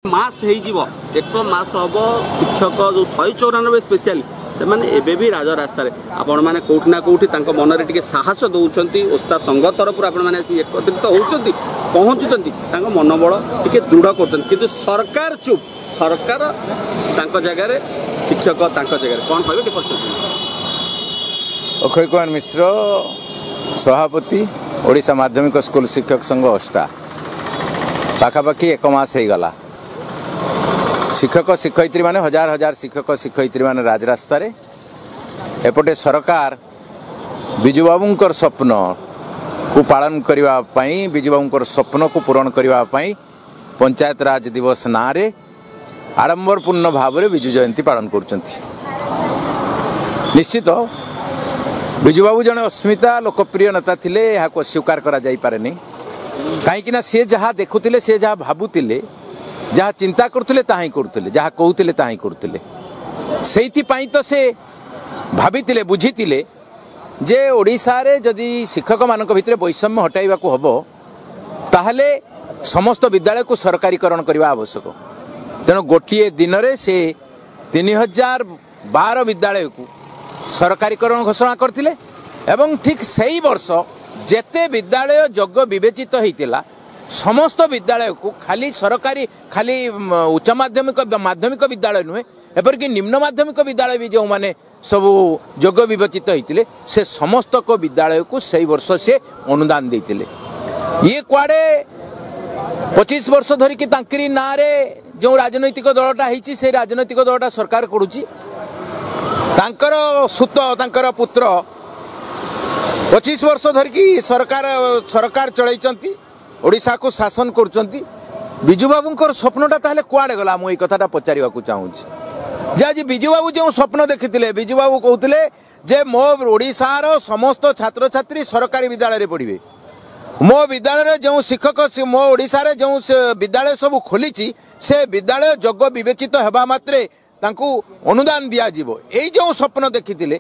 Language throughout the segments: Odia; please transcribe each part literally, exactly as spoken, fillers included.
ମାସ ହେଇଯିବ, ଏକ ମାସ ହେବ ଶିକ୍ଷକ ଯେଉଁ ଶହେ ଚଉରାନବେ ସ୍ପେଶିଆଲି ସେମାନେ ଏବେ ବି ରାଜରାସ୍ତାରେ। ଆପଣମାନେ କେଉଁଠି ନା କେଉଁଠି ତାଙ୍କ ମନରେ ଟିକେ ସାହସ ଦେଉଛନ୍ତି। ଓସ୍ତା ସଂଘ ତରଫରୁ ଆପଣମାନେ ଆସି ଏକତ୍ରିତ ହେଉଛନ୍ତି, ପହଞ୍ଚୁଛନ୍ତି, ତାଙ୍କ ମନୋବଳ ଟିକେ ଦୃଢ଼ କରୁଛନ୍ତି। କିନ୍ତୁ ସରକାର ଚୁପ୍, ସରକାର ତାଙ୍କ ଜାଗାରେ, ଶିକ୍ଷକ ତାଙ୍କ ଜାଗାରେ। କ'ଣ କହିବେ ଟିକେ ପଚାରୁଛନ୍ତି। ଅକ୍ଷୟ କୁମାର ମିଶ୍ର, ସଭାପତି, ଓଡ଼ିଶା ମାଧ୍ୟମିକ ସ୍କୁଲ ଶିକ୍ଷକ ସଂଘ ଅଷ୍ଟା। ପାଖାପାଖି ଏକ ମାସ ହେଇଗଲା, ଶିକ୍ଷକ ଶିକ୍ଷୟିତ୍ରୀମାନେ, ହଜାର ହଜାର ଶିକ୍ଷକ ଶିକ୍ଷୟିତ୍ରୀମାନେ ରାଜରାସ୍ତାରେ। ଏପଟେ ସରକାର ବିଜୁବାବୁଙ୍କର ସ୍ୱପ୍ନକୁ ପାଳନ କରିବା ପାଇଁ, ବିଜୁବାବୁଙ୍କର ସ୍ୱପ୍ନକୁ ପୂରଣ କରିବା ପାଇଁ ପଞ୍ଚାୟତରାଜ ଦିବସ ନାଁରେ ଆଡ଼ମ୍ବରପୂର୍ଣ୍ଣ ଭାବରେ ବିଜୁ ଜୟନ୍ତୀ ପାଳନ କରୁଛନ୍ତି। ନିଶ୍ଚିତ ବିଜୁବାବୁ ଜଣେ ଅସ୍ମିତା ଲୋକପ୍ରିୟ ନେତା ଥିଲେ, ଏହାକୁ ଅସ୍ୱୀକାର କରାଯାଇପାରେନି। କାହିଁକିନା ସିଏ ଯାହା ଦେଖୁଥିଲେ, ସିଏ ଯାହା ଭାବୁଥିଲେ, ଯାହା ଚିନ୍ତା କରୁଥିଲେ ତାହା ହିଁ କରୁଥିଲେ, ଯାହା କହୁଥିଲେ ତାହା ହିଁ କରୁଥିଲେ। ସେଇଥିପାଇଁ ତ ସେ ଭାବିଥିଲେ, ବୁଝିଥିଲେ ଯେ ଓଡ଼ିଶାରେ ଯଦି ଶିକ୍ଷକମାନଙ୍କ ଭିତରେ ବୈଷମ୍ୟ ହଟାଇବାକୁ ହେବ, ତାହେଲେ ସମସ୍ତ ବିଦ୍ୟାଳୟକୁ ସରକାରୀକରଣ କରିବା ଆବଶ୍ୟକ। ତେଣୁ ଗୋଟିଏ ଦିନରେ ସେ ତିନି ହଜାର ବାର ବିଦ୍ୟାଳୟକୁ ସରକାରୀକରଣ ଘୋଷଣା କରିଥିଲେ ଏବଂ ଠିକ୍ ସେଇ ବର୍ଷ ଯେତେ ବିଦ୍ୟାଳୟ ଯୋଗ୍ୟ ବିବେଚିତ ହେଇଥିଲା ସମସ୍ତ ବିଦ୍ୟାଳୟକୁ, ଖାଲି ସରକାରୀ, ଖାଲି ଉଚ୍ଚ ମାଧ୍ୟମିକ ମାଧ୍ୟମିକ ବିଦ୍ୟାଳୟ ନୁହେଁ, ଏପରିକି ନିମ୍ନ ମାଧ୍ୟମିକ ବିଦ୍ୟାଳୟ ବି ଯେଉଁମାନେ ସବୁ ଯୋଗ୍ୟ ବିବେଚିତ ହେଇଥିଲେ, ସେ ସମସ୍ତଙ୍କ ବିଦ୍ୟାଳୟକୁ ସେଇ ବର୍ଷ ସେ ଅନୁଦାନ ଦେଇଥିଲେ। ଇଏ କୁଆଡ଼େ ପଚିଶ ବର୍ଷ ଧରିକି ତାଙ୍କରି ନାଁରେ ଯେଉଁ ରାଜନୈତିକ ଦଳଟା ହେଇଛି, ସେଇ ରାଜନୈତିକ ଦଳଟା ସରକାର କରୁଛି। ତାଙ୍କର ସୁତ, ତାଙ୍କର ପୁତ୍ର ପଚିଶ ବର୍ଷ ଧରିକି ସରକାର ସରକାର ଚଳାଇଛନ୍ତି, ଓଡ଼ିଶାକୁ ଶାସନ କରୁଛନ୍ତି। ବିଜୁବାବୁଙ୍କର ସ୍ୱପ୍ନଟା ତାହେଲେ କୁଆଡ଼େ ଗଲା? ମୁଁ ଏଇ କଥାଟା ପଚାରିବାକୁ ଚାହୁଁଛି ଯେ ଆଜି ବିଜୁବାବୁ ଯେଉଁ ସ୍ୱପ୍ନ ଦେଖିଥିଲେ, ବିଜୁବାବୁ କହୁଥିଲେ ଯେ ମୋ ଓଡ଼ିଶାର ସମସ୍ତ ଛାତ୍ରଛାତ୍ରୀ ସରକାରୀ ବିଦ୍ୟାଳୟରେ ପଢ଼ିବେ, ମୋ ବିଦ୍ୟାଳୟରେ ଯେଉଁ ଶିକ୍ଷକ, ମୋ ଓଡ଼ିଶାରେ ଯେଉଁ ବିଦ୍ୟାଳୟ ସବୁ ଖୋଲିଛି ସେ ବିଦ୍ୟାଳୟ ଯୋଗ୍ୟ ବିବେଚିତ ହେବା ମାତ୍ରେ ତାଙ୍କୁ ଅନୁଦାନ ଦିଆଯିବ। ଏଇ ଯେଉଁ ସ୍ୱପ୍ନ ଦେଖିଥିଲେ,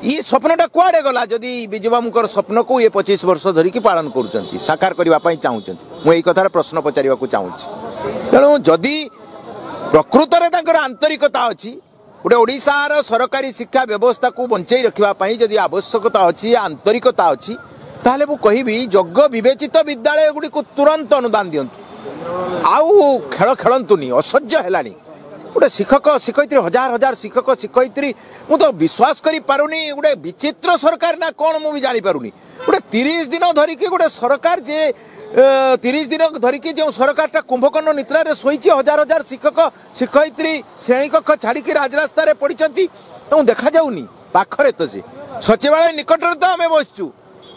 ଇ ସ୍ୱପ୍ନଟା କୁଆଡ଼େ ଗଲା? ଯଦି ବିଜୁବାବୁଙ୍କର ସ୍ୱପ୍ନକୁ ଇଏ ପଚିଶ ବର୍ଷ ଧରିକି ପାଳନ କରୁଛନ୍ତି, ସାକାର କରିବା ପାଇଁ ଚାହୁଁଛନ୍ତି, ମୁଁ ଏଇ କଥାର ପ୍ରଶ୍ନ ପଚାରିବାକୁ ଚାହୁଁଛି। ତେଣୁ ଯଦି ପ୍ରକୃତରେ ତାଙ୍କର ଆନ୍ତରିକତା ଅଛି, ଗୋଟେ ଓଡ଼ିଶାର ସରକାରୀ ଶିକ୍ଷା ବ୍ୟବସ୍ଥାକୁ ବଞ୍ଚେଇ ରଖିବା ପାଇଁ ଯଦି ଆବଶ୍ୟକତା ଅଛି, ଆନ୍ତରିକତା ଅଛି, ତାହେଲେ ମୁଁ କହିବି ଯୋଗ୍ୟ ବିବେଚିତ ବିଦ୍ୟାଳୟ ଗୁଡ଼ିକୁ ତୁରନ୍ତ ଅନୁଦାନ ଦିଅନ୍ତୁ। ଆଉ ଖେଳ ଖେଳନ୍ତୁନି, ଅସହ୍ୟ ହେଲାଣି। ଗୋଟେ ଶିକ୍ଷକ ଶିକ୍ଷୟିତ୍ରୀ, ହଜାର ହଜାର ଶିକ୍ଷକ ଶିକ୍ଷୟିତ୍ରୀ, ମୁଁ ତ ବିଶ୍ୱାସ କରିପାରୁନି। ଗୋଟେ ବିଚିତ୍ର ସରକାର ନା କ'ଣ ମୁଁ ବି ଜାଣିପାରୁନି। ଗୋଟେ ତିରିଶ ଦିନ ଧରିକି ଗୋଟେ ସରକାର, ଯେ ତିରିଶ ଦିନ ଧରିକି ଯେଉଁ ସରକାରଟା କୁମ୍ଭକର୍ଣ୍ଣ ନିଦ୍ରାରେ ଶୋଇଛି, ହଜାର ହଜାର ଶିକ୍ଷକ ଶିକ୍ଷୟିତ୍ରୀ ଶ୍ରେଣୀକକ୍ଷ ଛାଡ଼ିକି ରାଜରାସ୍ତାରେ ପଡ଼ିଛନ୍ତି, ତେଣୁ ଦେଖାଯାଉନି ପାଖରେ ତ ସେ ସଚିବାଳୟ ନିକଟରେ ତ ଆମେ ବସିଛୁ,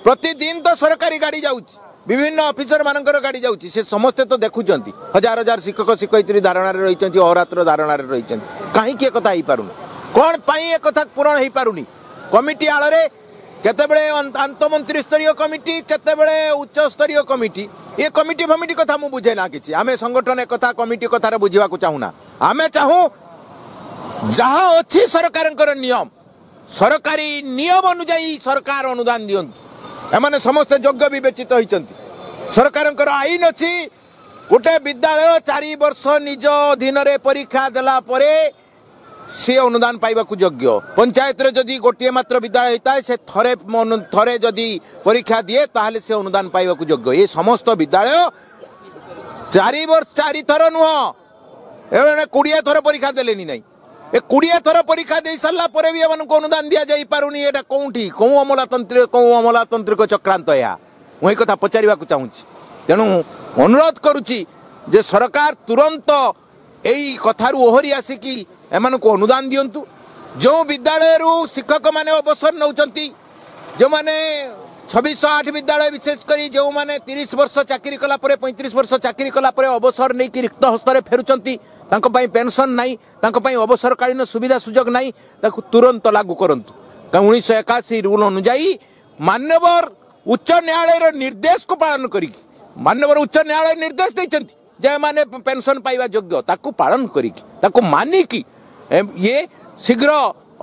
ପ୍ରତିଦିନ ତ ସରକାରୀ ଗାଡ଼ି ଯାଉଛି, ବିଭିନ୍ନ ଅଫିସର ମାନଙ୍କର ଗାଡ଼ି ଯାଉଛି, ସେ ସମସ୍ତେ ତ ଦେଖୁଛନ୍ତି। ହଜାର ହଜାର ଶିକ୍ଷକ ଶିକ୍ଷୟିତ୍ରୀ ଧାରଣାରେ ରହିଛନ୍ତି, ଅହରାତ୍ର ଧାରଣାରେ ରହିଛନ୍ତି। କାହିଁକି ଏକଥା ହେଇପାରୁନି? କ'ଣ ପାଇଁ ଏକଥା ପୂରଣ ହେଇପାରୁନି? କମିଟି ଆଳରେ କେତେବେଳେ ଆନ୍ତମନ୍ତ୍ରୀ ସ୍ତରୀୟ କମିଟି, କେତେବେଳେ ଉଚ୍ଚସ୍ତରୀୟ କମିଟି, ଏ କମିଟି ଫମିଟି କଥା ମୁଁ ବୁଝେ ନା କିଛି। ଆମେ ସଂଗଠନ ଏକଥା କମିଟି କଥାରେ ବୁଝିବାକୁ ଚାହୁଁନା। ଆମେ ଚାହୁଁ ଯାହା ଅଛି ସରକାରଙ୍କର ନିୟମ, ସରକାରୀ ନିୟମ ଅନୁଯାୟୀ ସରକାର ଅନୁଦାନ ଦିଅନ୍ତୁ। ଏମାନେ ସମସ୍ତେ ଯୋଗ୍ୟ ବିବେଚିତ ହୋଇଛନ୍ତି। ସରକାରଙ୍କର ଆଇନ ଅଛି, ଗୋଟେ ବିଦ୍ୟାଳୟ ଚାରି ବର୍ଷ ନିଜ ଅଧୀନରେ ପରୀକ୍ଷା ଦେଲା ପରେ ସେ ଅନୁଦାନ ପାଇବାକୁ ଯୋଗ୍ୟ। ପଞ୍ଚାୟତରେ ଯଦି ଗୋଟିଏ ମାତ୍ର ବିଦ୍ୟାଳୟ ହେଇଥାଏ, ସେ ଥରେ ଥରେ ଯଦି ପରୀକ୍ଷା ଦିଏ ତାହେଲେ ସେ ଅନୁଦାନ ପାଇବାକୁ ଯୋଗ୍ୟ। ଏ ସମସ୍ତ ବିଦ୍ୟାଳୟ ଚାରି ବର୍ଷ, ଚାରିଥର ନୁହଁ, ଏମାନେ କୋଡ଼ିଏ ଥର ପରୀକ୍ଷା ଦେଲେନି ନାହିଁ। ଏ କୋଡ଼ିଏ ଥର ପରୀକ୍ଷା ଦେଇ ସାରିଲା ପରେ ବି ଏମାନଙ୍କୁ ଅନୁଦାନ ଦିଆଯାଇପାରୁନି। ଏଇଟା କେଉଁଠି, କେଉଁ ଅମଲାତନ୍ତ୍ରିକ, କେଉଁ ଅମଲାତାନ୍ତ୍ରିକ ଚକ୍ରାନ୍ତ ଏହା? ମୁଁ ଏଇ କଥା ପଚାରିବାକୁ ଚାହୁଁଛି। ତେଣୁ ଅନୁରୋଧ କରୁଛି ଯେ ସରକାର ତୁରନ୍ତ ଏଇ କଥାରୁ ଓହରି ଆସିକି ଏମାନଙ୍କୁ ଅନୁଦାନ ଦିଅନ୍ତୁ। ଯେଉଁ ବିଦ୍ୟାଳୟରୁ ଶିକ୍ଷକମାନେ ଅବସର ନେଉଛନ୍ତି, ଯେଉଁମାନେ ଛବିଶହ ଆଠ ବିଦ୍ୟାଳୟ ବିଶେଷ କରି, ଯେଉଁମାନେ ତିରିଶ ବର୍ଷ ଚାକିରି କଲା ପରେ, ପଇଁତିରିଶ ବର୍ଷ ଚାକିରି କଲା ପରେ ଅବସର ନେଇକି ରିକ୍ତ ହସ୍ତରେ ଫେରୁଛନ୍ତି, ତାଙ୍କ ପାଇଁ ପେନସନ୍ ନାହିଁ, ତାଙ୍କ ପାଇଁ ଅବସରକାଳୀନ ସୁବିଧା ସୁଯୋଗ ନାହିଁ, ତାକୁ ତୁରନ୍ତ ଲାଗୁ କରନ୍ତୁ। କାରଣ ଉଣେଇଶହ ଏକାଅଶୀ ରୁଲ୍ ଅନୁଯାୟୀ ମାନ୍ୟବର ଉଚ୍ଚ ନ୍ୟାୟାଳୟର ନିର୍ଦ୍ଦେଶକୁ ପାଳନ କରିକି, ମାନ୍ୟବର ଉଚ୍ଚ ନ୍ୟାୟାଳୟ ନିର୍ଦ୍ଦେଶ ଦେଇଛନ୍ତି ଯେ ଏମାନେ ପେନସନ୍ ପାଇବା ଯୋଗ୍ୟ, ତାକୁ ପାଳନ କରିକି, ତାକୁ ମାନିକି ଇଏ ଶୀଘ୍ର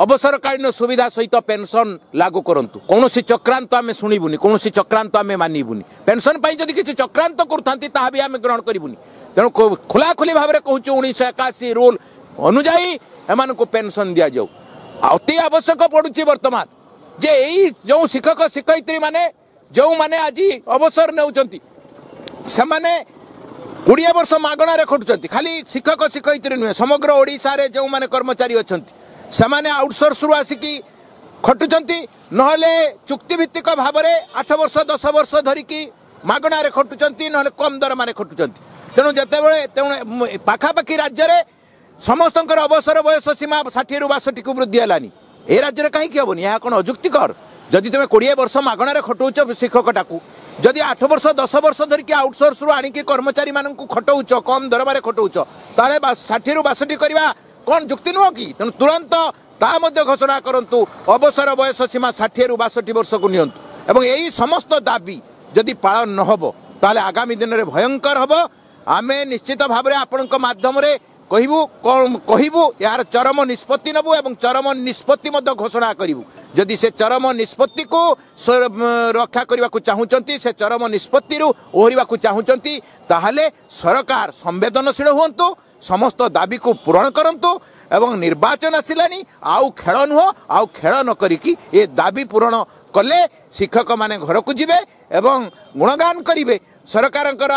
ଅବସରକାଳୀନ ସୁବିଧା ସହିତ ପେନସନ୍ ଲାଗୁ କରନ୍ତୁ। କୌଣସି ଚକ୍ରାନ୍ତ ଆମେ ଶୁଣିବୁନି, କୌଣସି ଚକ୍ରାନ୍ତ ଆମେ ମାନିବୁନି। ପେନସନ୍ ପାଇଁ ଯଦି କିଛି ଚକ୍ରାନ୍ତ କରୁଥାନ୍ତି ତାହା ବି ଆମେ ଗ୍ରହଣ କରିବୁନି। ତେଣୁ ଖୋଲାଖୋଲି ଭାବରେ କହୁଛୁ, ଉଣେଇଶହ ଏକାଅଶୀ ରୁଲ୍ ଅନୁଯାୟୀ ଏମାନଙ୍କୁ ପେନସନ୍ ଦିଆଯାଉ। ଅତି ଆବଶ୍ୟକ ପଡ଼ୁଛି ବର୍ତ୍ତମାନ ଯେ ଏଇ ଯେଉଁ ଶିକ୍ଷକ ଶିକ୍ଷୟିତ୍ରୀ ମାନେ ଯେଉଁମାନେ ଆଜି ଅବସର ନେଉଛନ୍ତି, ସେମାନେ କୋଡ଼ିଏ ବର୍ଷ ମାଗଣାରେ ଖଟୁଛନ୍ତି। ଖାଲି ଶିକ୍ଷକ ଶିକ୍ଷୟିତ୍ରୀ ନୁହେଁ, ସମଗ୍ର ଓଡ଼ିଶାରେ ଯେଉଁମାନେ କର୍ମଚାରୀ ଅଛନ୍ତି ସେମାନେ ଆଉଟସୋର୍ସରୁ ଆସିକି ଖଟୁଛନ୍ତି, ନହେଲେ ଚୁକ୍ତିଭିତ୍ତିକ ଭାବରେ ଆଠ ବର୍ଷ ଦଶ ବର୍ଷ ଧରିକି ମାଗଣାରେ ଖଟୁଛନ୍ତି, ନହେଲେ କମ୍ ଦରମାରେ ଖଟୁଛନ୍ତି। ତେଣୁ ଯେତେବେଳେ ତେଣୁ ପାଖାପାଖି ରାଜ୍ୟରେ ସମସ୍ତଙ୍କର ଅବସର ବୟସ ସୀମା ଷାଠିଏରୁ ବାଷଠିକୁ ବୃଦ୍ଧି ହେଲାନି, ଏ ରାଜ୍ୟରେ କାହିଁକି ହେବନି? ଏହା କ'ଣ ଅଯୁକ୍ତିକର? ଯଦି ତୁମେ କୋଡ଼ିଏ ବର୍ଷ ମାଗଣାରେ ଖଟଉଛ ଶିକ୍ଷକଟାକୁ, ଯଦି ଆଠ ବର୍ଷ ଦଶ ବର୍ଷ ଧରିକି ଆଉଟସୋର୍ସରୁ ଆଣିକି କର୍ମଚାରୀମାନଙ୍କୁ ଖଟଉଛ, କମ୍ ଦରମାରେ ଖଟଉଛ, ତାହେଲେ ଷାଠିଏରୁ ବାଷଠି କରିବା କ'ଣ ଯୁକ୍ତି ନୁହଁ କି? ତେଣୁ ତୁରନ୍ତ ତା ମଧ୍ୟ ଘୋଷଣା କରନ୍ତୁ, ଅବସର ବୟସ ସୀମା ଷାଠିଏରୁ ବାଷଠି ବର୍ଷକୁ ନିଅନ୍ତୁ। ଏବଂ ଏହି ସମସ୍ତ ଦାବି ଯଦି ପାଳନ ନ ହେବ ତାହେଲେ ଆଗାମୀ ଦିନରେ ଭୟଙ୍କର ହେବ। ଆମେ ନିଶ୍ଚିତ ଭାବରେ ଆପଣଙ୍କ ମାଧ୍ୟମରେ କହିବୁ, କ'ଣ କହିବୁ, ଏହାର ଚରମ ନିଷ୍ପତ୍ତି ନେବୁ ଏବଂ ଚରମ ନିଷ୍ପତ୍ତି ମଧ୍ୟ ଘୋଷଣା କରିବୁ। ଯଦି ସେ ଚରମ ନିଷ୍ପତ୍ତିକୁ ରକ୍ଷା କରିବାକୁ ଚାହୁଁଛନ୍ତି, ସେ ଚରମ ନିଷ୍ପତ୍ତିରୁ ଓହରିବାକୁ ଚାହୁଁଛନ୍ତି, ତାହେଲେ ସରକାର ସମ୍ବେଦନଶୀଳ ହୁଅନ୍ତୁ, ସମସ୍ତ ଦାବିକୁ ପୂରଣ କରନ୍ତୁ। ଏବଂ ନିର୍ବାଚନ ଆସିଲାନି, ଆଉ ଖେଳ ନୁହଁ, ଆଉ ଖେଳ ନ କରିକି ଏ ଦାବି ପୂରଣ କଲେ ଶିକ୍ଷକମାନେ ଘରକୁ ଯିବେ ଏବଂ ଗୁଣଗାନ କରିବେ ସରକାରଙ୍କର,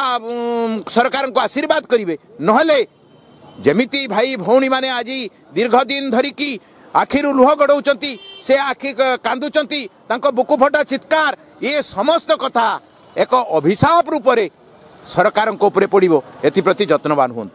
ସରକାରଙ୍କୁ ଆଶୀର୍ବାଦ କରିବେ। ନହେଲେ ଯେମିତି ଭାଇ ଭଉଣୀମାନେ ଆଜି ଦୀର୍ଘ ଦିନ ଧରିକି ଆଖିରୁ ଲୁହ ଗଡ଼ଉଛନ୍ତି, ସେ ଆଖି କାନ୍ଦୁଛନ୍ତି, ତାଙ୍କ ବୁକୁ ଫଟା ଚିତ୍କାର, ଏ ସମସ୍ତ କଥା ଏକ ଅଭିଶାପ ରୂପରେ ସରକାରଙ୍କ ଉପରେ ପଡ଼ିବ। ଏଥିପ୍ରତି ଯତ୍ନବାନ ହୁଅନ୍ତୁ।